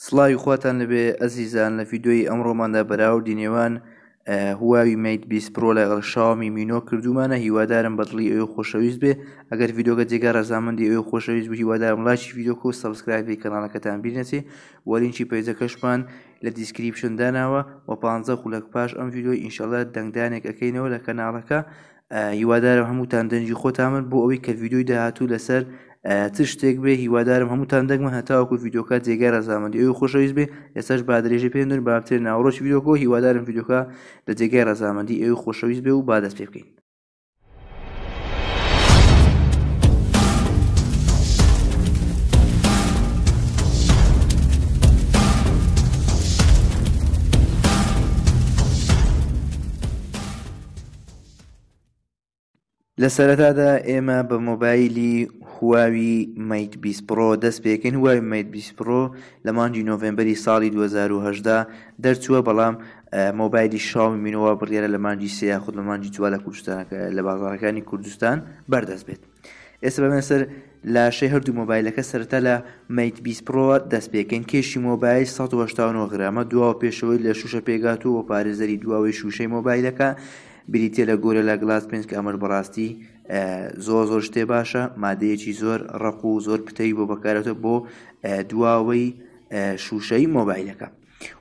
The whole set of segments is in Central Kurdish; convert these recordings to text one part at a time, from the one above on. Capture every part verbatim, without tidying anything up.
سڵاوی خواتان لەبێ ئەزیزان. لە ڤیدیۆی ئەمڕۆماندا بەراوردی نێوان هواوی Mate بیست Pro لەگەڵ شاومی Mi نۆ کردومانە. هیوادارم بەدڵی ئەوێ خۆشەویست بێ. ئەگەر ڤیدیۆکە جێگای ڕەزامەندی ئەوێ خۆشەویست بوو، هیوادارم لایکی ڤیدیۆکە و subscribe ی کەناڵەکەتان بیر نەچێ. وە لینکی پەیجەکەشمان لە description داناوە و پانزە خولەک پاش ئەم ڤیدیۆی ئینشەڵا دەنگدانێک ئەەکەینەوە لە کەناڵەکە. هیوادارم هەمووتان دەنگی خۆتان بن بۆ ئەوەی کە ڤیدیۆی داهاتوو لەسەر چ شتێک بێ. هیوادارم هەمووتان دەنگمە هەتاوەکو ڤیدیۆکە جێگای ڕەزامەندی ئەوی خۆشەویست بێ. ئێستاش با درێژەی پێ بدەین، با بچێت ناوەڕۆکی ڤیدیۆکە. هیوادارم ڤیدیۆکە لە جێگای ڕەزامەندی ئەوی خۆشەویست بێ و با دەست پێ بکەین. لە سەرەتادا ئێمە بە مۆبایلی هواوی Mate بیست Pro دەست پێکەین. هواوی Mate بیست Pro لە مانگی نۆڤمبەری ساڵی دوو هەزار و هەژدە دەرچووە، بەڵام مۆبایلی شاومی Mi نۆوە بڕیارە لە مانگی سێ یاخود لە مانگی چوار لە کوردستان لە بازارەکانی کوردستان بەردەست بێت. ئێستا بەمێنە سەر لاشەی هەردوو مۆبایلەکە. سەرەتا لە Mate بیست Pro دەست پێکەین. کێشی مۆبایل سەد و هەشتا و نۆ غرامە، دواوە پێشەوەی لە شوشە پێگاتوو و پارێزەری دواوەی شوشەی مۆبایلەکە بریتیە لە Gorilla Glass پێنج کە ئەمەش بەڕاستی زۆر زۆر شتێ باشە، مادەیەکی زۆر ڕەق و زۆر پتەی بۆ بەکارێتەوە بۆ دواوەی شوشەی مۆبایلەکە.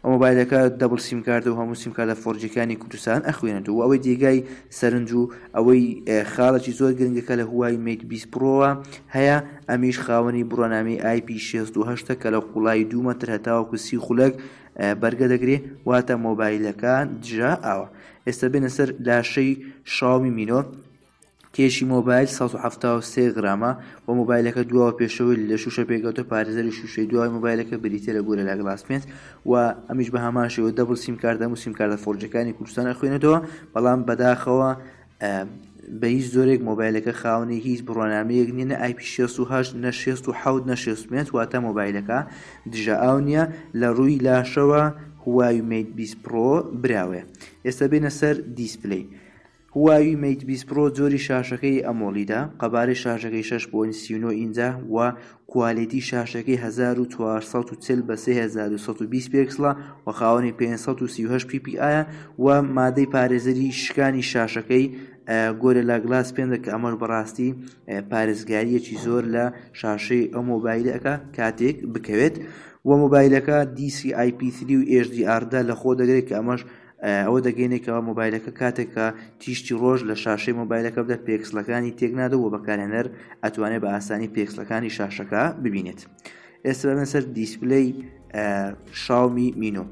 و مۆبایلەکە double سیم کارتە و هەموو سیم کارتە four G ەکانی کوردستان ئەخوێنێتەوە. و ئەوەی جێگای سەرنج و ئەوەی خاڵێکی زۆر گرنگەکە لە هواوی Mate بیست Pro وە هەیە، ئەمیش خاوەنی بڕوانامەی ئای پی شێست و هەشتە کە لە قوڵایی دوو مەتر هەتاوەکو سی خولەک بەرگە دەگرێ، واتە مۆبایلەکە دژە ئاوە. ئێستا بێنە سەر لاشەی شاومی Mi نۆ. کێشی مۆبایل سەد و حەفتا و سێ غرامە و مۆبایلەکە دواوە پێشەوەی لە شوشە پێگەوتە. پارێزەری شوشەی دوای مۆبایلەکە بریتیە لە Gorilla Glass پێنج و ئەمیش بە هەمان شێوە double سیم کارت هەموو سیم کارتە four G ەکانی کوردستان ئەخوێنێتەوە، بەڵام بەداخەوە بە هیچ زۆرێک مۆبایلەکە خاوەنی هیچ بڕوانامەیەک نییە، نە ئای پی شێست و هەشت، نە شێست و حەوت، نە شێست و پێنج، واتە مۆبایلەکە دژە ئاو نییە. لە ڕووی لاشەوە هواوی Mate بیست Pro براوەیە. ئێستا بێنە سەر display. هواوی Mate بیست Pro جۆری شاشەکەی AMOLED ە، قەبارەی شاشەکەی شەش point سی و نۆ ئینجا و quality شاشەکەی هەزار و چوار سەد و چل بە سێ هەزار و سەد و بیست پێکسڵە و خاوەنی پێنج سەد و سی و هەشت پی پی ئایە و مادەی پارێزەری شکانی شاشەکەی Gorilla Glass پێنجە کە ئەمەش بەڕاستی پارێزگاریەکی زۆر لە شاشەی ئەو مۆبایلەکە کاتێک بکەوێت. و مۆبایلەکە دی سی ئای پی سری و ئێچ دی ئار دا لە خۆ دەگرێت کە ئەمەش ئەوە دەگەینێکەوە مۆبایلەکە کاتێکە تیشتی ڕۆژ لە شاشەی مۆبایلەکە بدە پێکسلەکانی تێکنادەوە و بەکارهێنەر ئەتوانێت بە ئاسانی پێکسلەکانی شاشەکە ببینێت. ئێستا بەمێنە سەر display شاومی Mi نۆ.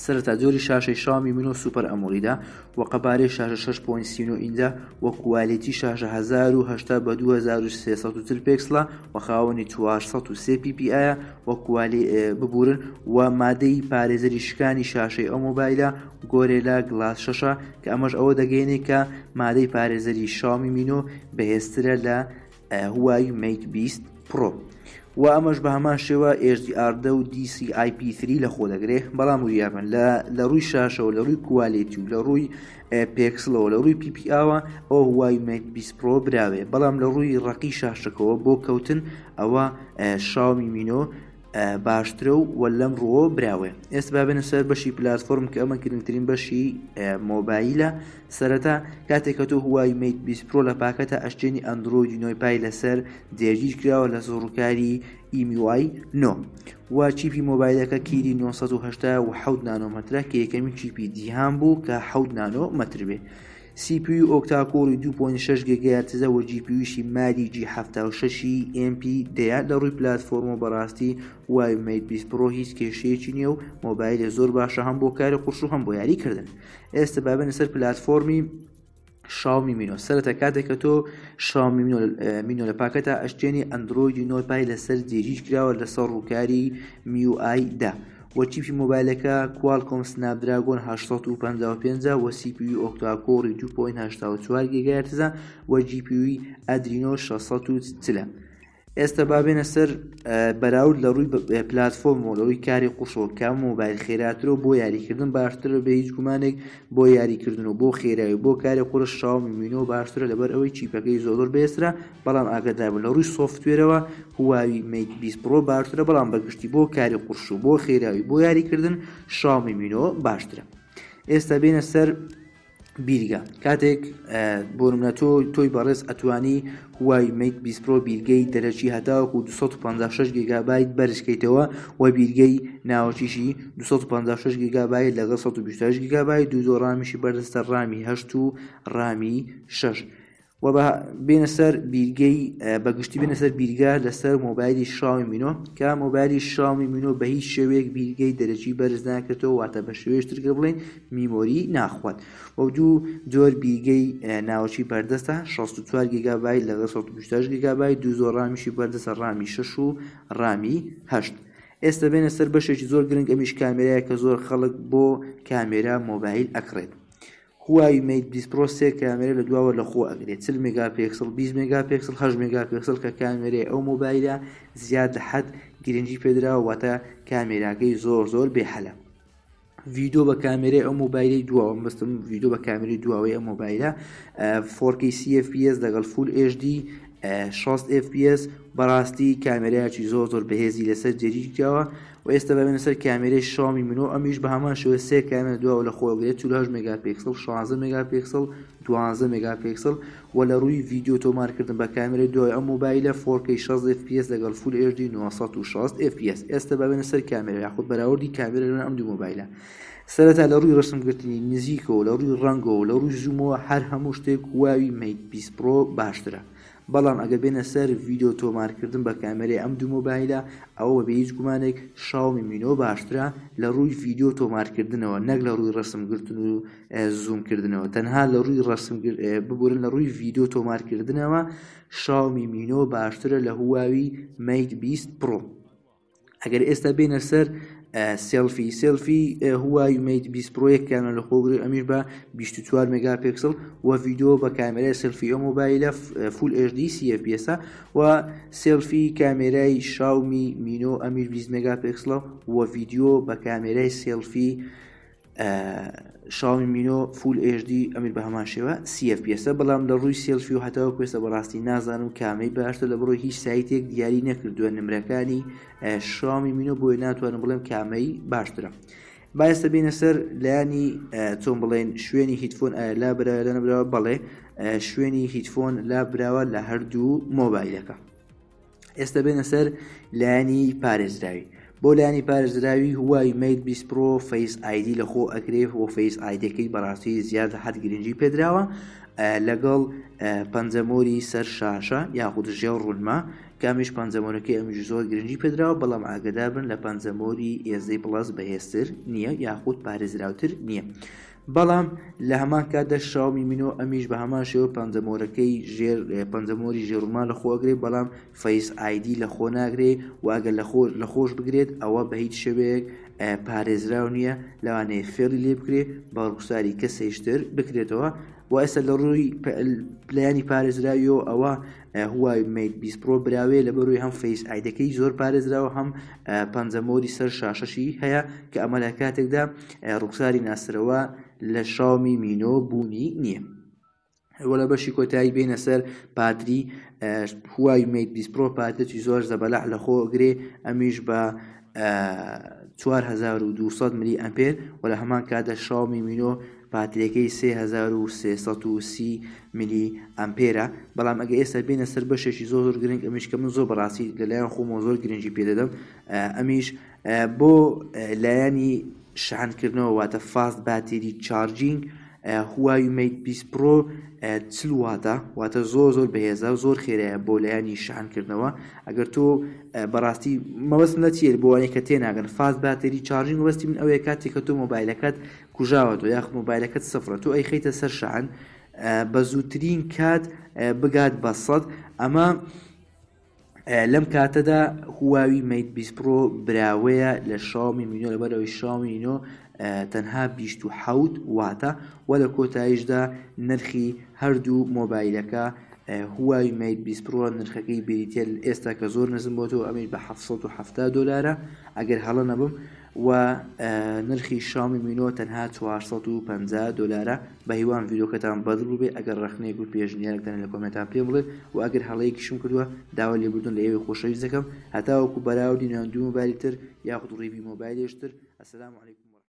سەرەتا جۆری شاشەی شاومی Mi نۆ Super AMOLED ە و قەبارەی شاشە شەش point سی و نۆ ئینجا و quality شاشە هەزار و هەشتا بە دوو هەزار و سێ سەد و چل پێکسڵە و خاوەنی چوار سەد و سێ پی پی ئایە و quality ببورن و مادەی پارێزەری شکانی شاشەی ئەو مۆبایلە Gorilla Glass شەشە کە ئەمەش ئەوە دەگەیەنێت کە مادەی پارێزەری شاومی Mi نۆ بەهێزترە لە هواوی Mate بیست Pro. و ئەمەش بە هەمان شێوە ئێچ دی ئار دە و دی سی ئای پی سری لە خۆ دەگرێت، بەڵام وریابن لە ڕووی شاشەوە، لە ڕووی quality و لە ڕووی پێکسڵەوە، لە ڕووی پی پی ئاوە ئەو هواوی Mate بیست Pro براوێ، بەڵام لە ڕووی ڕەقی شاشەکەەوە بۆ کەوتن ئەوە شاومی Mi نۆ باشترە و لەم ڕووە براوێ. ئێستا با بێنە سەر بەشی پلاتفۆرم کە ئەمە گرنگترین بەشی مۆبایلە. سەرەتا کاتێک کە تۆ هواوی Mate بیست Pro لە پاکەتە ئەشتێنی ئەندرۆیدی نۆی Pie لەسەر جێگیر کراوە لە زۆڕوکاری ئیمیوای نۆ و چیپی مۆبایلەکە Kirin نۆ سەد و هەشتا و حەوت نانۆمەترە کە یەکەمین چیپی جیهان بوو کە حەوت نانۆمەتر بێ. سی پی یو octa-core ی دوو point شەش گیگاهێرتزە و جی پی یوشی Mali G حەفتا و شەشی ئێم پی دەیە. لە ڕووی پلاتفۆرمەوە بەڕاستی هواوی Mate بیست Pro هیچ کێشەیەکی نییە و مۆبایلە زۆر باشە هەم بۆ کاری قورس و هەم بۆ یاریکردن. ئێستا با بێنە سەر پلاتفۆرمی شاومی Mi نۆ. سەرەتا کاتێک کە تۆ شاومی Mi نۆ لە پاکەتە ئەشتێنی ئەندرۆیدی نۆی Pie لەسەر جێگیر کراوە لەسەر ڕووکاری MIUI دا و چیپی مۆبایلەکە Qualcomm Snapdragon هەشت سەد و پەنجا و پێنج و سی پی یو octa-core ی دوو point هەشتا و چوار گیگاهێرتزە و جی پی یوی Adreno شەش سەد و چلە. ئێستا با بێنە سەر بەراورد لە ڕووی پلاتفۆرمەوە، لە ڕووی کاری قورسەوە کام مۆبایل خێراترە و بۆ یاریکردن باشترە. بە هیچ گومانێک بۆ یاریکردن و بۆ خێرایی و بۆ کاری قورس شاومی مینۆ باشترە، لەبەر ئەوەی chip ەکەی زۆر زۆر بەهێزترە. بەڵام ئاگادار بن لە ڕووی software ەوە هواوی مەیت بیست پرۆ باشترە، بەڵام بەگشتی بۆ کاری قورس و بۆ خێراوی بۆ یاریکردن شاومی مینۆ باشترە. ئێستا بێنە سەر بیرگە. کاتێک بۆ نمونە تۆ تۆی بەڕێز ئەتوانی هواوی مەیت بیست پرۆ بیرگەی دەرەکی هەتاوەکو دوو سەد و پەنجا و شەش گیگابایت بەرزکەیتەوە و بیرگەی ناوەکیشی دوو سەد و پەنجا و شەش گیگابایت لەگەڵ سەد و بیست و هەشت گیگابایت، دوو زۆر ڕامیشی بەردەستە، ڕامی هەشت و ڕامی شەش. و بە بێنە سەر بیرگەی بەگشتی بێنە سەر بیرگە لەسەر مۆبایلی شاومی مینۆ، کە مۆبایلی شاومی مینۆ بە هیچ شێوەیەک بیرگەی دەرەکی بەرز ناکرێتەوە، واتە بە شێوەیەش ترکە بڵێن memory ناخوات. و دوو جۆر بیرگەی ناوەکی بەردەستە، شەست و چوار گیگابایت لەگەڵ سەد و بیست و هەشت گیگابایت، دوو زۆر ڕامیشی بەردەستە، ڕامی شەش و ڕامی هەشت. ئێستا بێنە سەر بەشێکی زۆر گرنگ، ئەمیش کامێرایە کە زۆر خەڵک بۆ کامێرا مۆبایل ئەکڕێت. هواوی مەیت بیست پرۆ سێ کامێرا لە دواوە لە خۆ ئەگرێت، چل مێگاپێکسل، بیست مێگاپێکسل، هەشت مێگاپێکسل، کە کامێرەی ئەو مۆبایلە زیاد لە حەد گرنگی پێدراوە، واتە کامێراکەی زۆر زۆر بێحەلە. ڤیدیۆ بە کامێرەی ئەو مۆبایلەی دواوە، بەستم ڤیدیۆ بە کامێرەی دواوەی ئەو مۆبایلە فۆر کەی سی ئێف پی ئێس لەگەڵ full HD شەست ئێف پی ئێس، بەڕاستی کامێرایەکی زۆر زۆر بەهێزی لەسەر جێگیر کراوە. و ئێستا بەبێنە سەر کامێرەی شاومی مینۆ، ئەمیش بە هەمان شێوە سێ کامێرا دواوە لە خۆ ئەگرێت، چل و هەشت مێگاپێکسل، شازدە مێگاپێکسل، دوازدە مێگاپێکسل. و لە ڕووی ڤیدیۆ تۆمارکردن بە کامێرەی دوای ئەم مۆبایلە فۆر کەی شەست ئێف پی ئێس لەگەڵ full HD نۆ سەد و شەست ئێف پی ئێس. ئێستا بەبێنە سەر کامێرا یاخود بەراوردی کامێرا لەنێو ئەم دوو مۆبایلە. سەرەتا لە ڕووی ڕسمگرتنی نزیکەوە، لە ڕووی ڕەنگەوە، لە ڕووی zoom ەوە هەر هەموو شتێک هواوی مەیت بیست پرۆ باشترە. بەڵام ئەگەر بێنە سەر ڤیدیۆ تۆمارکردن بە کامێرەی ئەم دوو مۆبایلە، ئەوە بە هیچ گومانێک شاومی مینۆ باشترە لە ڕووی ڤیدیۆ تۆمارکردنەوە، نەک لە ڕووی ڕسمگرتن و زوومکردنەوە. تەنها لە ڕووی ڕسم ببورن لە ڕووی ڤیدیۆ تۆمارکردنەوە شاومی مینۆ باشترە لە هواوی مەیت بیست پرۆ. ئەگەر ئێستا بێنە سەر سێلفی، سێلفی هواوی مەیت بیست پرۆ یەک کامێرا لە خۆگرێت، ئەمیش بە بیست و چوار مێگاپێکسل و ڤیدیۆ بە کامێرای سێلفی ئەو مۆبایلە full HD سی ئێف پی ئێسە. و سێلفی کامێرای شاومی مینۆ ئەمیش بیست مێگاپێکسلە و ڤیدیۆ بە کامێرای سێلفی شاومی مینۆ full HD ئەمیر بە هەمان شێوە سی ئێف پی ئێسە. بەڵام لە ڕووی سێلفی و هەتاوەکو ئێستا بەڕاستی نازانم کامەی باشتر، لە بڕۆی هیچ سایتێک دیاری نەکردووە نمرەکانی شاومی مینۆ، بۆیە ناتوانم بڵێم کامەی باشترە. با ئێستا بینە سەر لایەنی چۆن بڵێن شوێنی headphone ئایا لا براوە لە نەبراوە؟ بەڵێ شوێنی headphone لا براوە لە هەردوو مۆبایلەکە. ئێستا بێنە سەر لایەنی پارێزراوی. بۆ لایەنی پارێزراوی هواوی مەیت بیست پرۆ Face ID لە خۆ ئەکرێ و Face ID ەکەی بەڕاستی زیاد لە حەد گرنگی پێدراوە، لەگەڵ پەنجەمۆری سەر شاشە یاخود ژێر ڕوونما، کامیش پەنجەمۆرەکەی ئەمیش زۆر گرنگی پێدراوە، بەڵام ئاگادار بن لە پەنجەمۆری ئێزدەی پڵەس بەهێزتر نییە یاخود پارێزراوتر نییە. بەڵام لە هەمان کاتدا شاومی مینۆ ئەمیش بە هەمان شێوە پەنجەمۆرەکەی ژێر پەنجەمۆری ژێڕووما لە خۆ ئەگرێ، بەڵام Face ID لە خۆ ناگرێ و ئەگەر لە خۆش بگرێت ئەوە بە هیچ شێوەیەک پارێزراو نییە، لەوانەیە فێڵی لێ بکرێ بە ڕوخساری کەسێشتر بکرێتەوە. و ئێستا لە ڕووی پلانی پارێزراویەوە ئەوە هواوی مەیت بیست پرۆ براوێ، لە بەروی هەم Face ID ەکەی زۆر پارێزراوە، هەم پەنجەمۆری سەر شاشەشی هەیە کە ئەمە لە کاتێکدا ڕوخساری ناسرەوە لە شاومی مینۆ بوونی نییە. وە لە بەشی کۆتایی بینە سەر پاتری، هواوی مەیت بیست پرۆ پاترێکی زۆر زەبەلاح لە خۆ ئەگرێ، ئەمیش بە چوار هەزار و دوو سەد ملی ئەمپێر، و لە هەمان کاتدا شاومی مینۆ پاتریەکەی سێ هەزار و سێ سەد و سی ملی ئەمپێرە. بەڵام ئەگە ئێستا بینە سەر بەشێکی زۆر زۆر گرنگ، ئەمیش کە من زۆر بەڕاستی لەلایەن خۆمەوە زۆر گرنگی پێدەدەم، ئەمیش بۆ لایەنی شەحنکردنەوە واتە fast battery charging، هواوی مەیت بیست پرۆ چل واتە، واتە زۆر زۆر بەهێزە، زۆر خێرایە بۆ لایەنی شەحنکردنەوە. ئەگەر تۆ بەڕاستی مەبەستم لە چییە بۆ ئەوانەی کە تێناگەن، fast battery charging مەبەستی من ئەوەیە کاتێک کە تۆ مۆبایلەکەت کوژاوەتەوە یاخود مۆبایلەکەت سفرە، تۆ ئەیخەیتە سەر شەحن بە زووترین کات بگات بە سەد. ئەمە لەم کاتەدا هواوی مەیت بیست پرۆ براوەیە لە شاومی مینۆ، لەبەرەوەی شاومی مینۆ تەنها بیست و حەوت واتە. و لە کۆتاییشدا نرخی هەردوو مۆبایلەکە هواوی Mate بیست Pro نرخەکەی بریتە ئێستا کە زۆر نزم بۆتەوە، ئەمەش بە حەفت سەد و حەفتا دۆلارە ئەگەر هەڵە نەبم، و نرخی شاومی Mi نۆ تەنها چوار سەد و پەنجا دۆلارە. بە هیوام ڤیدیۆکەتان بەدڵ بوو بێ. ئەگەر ڕەخنەیەک و پێشنیارێکتان لە کۆمێنتان پێم بڵێن، و ئەگەر هەڵەیەکیشم کردووە داوا لێبوردن لە ئێوەی خۆشەویست دەکەم. هەتاوەکو بەراوردی نێوان دوو مۆبایلی تر یاخود review مۆبایلێش تر. السلام علیکم.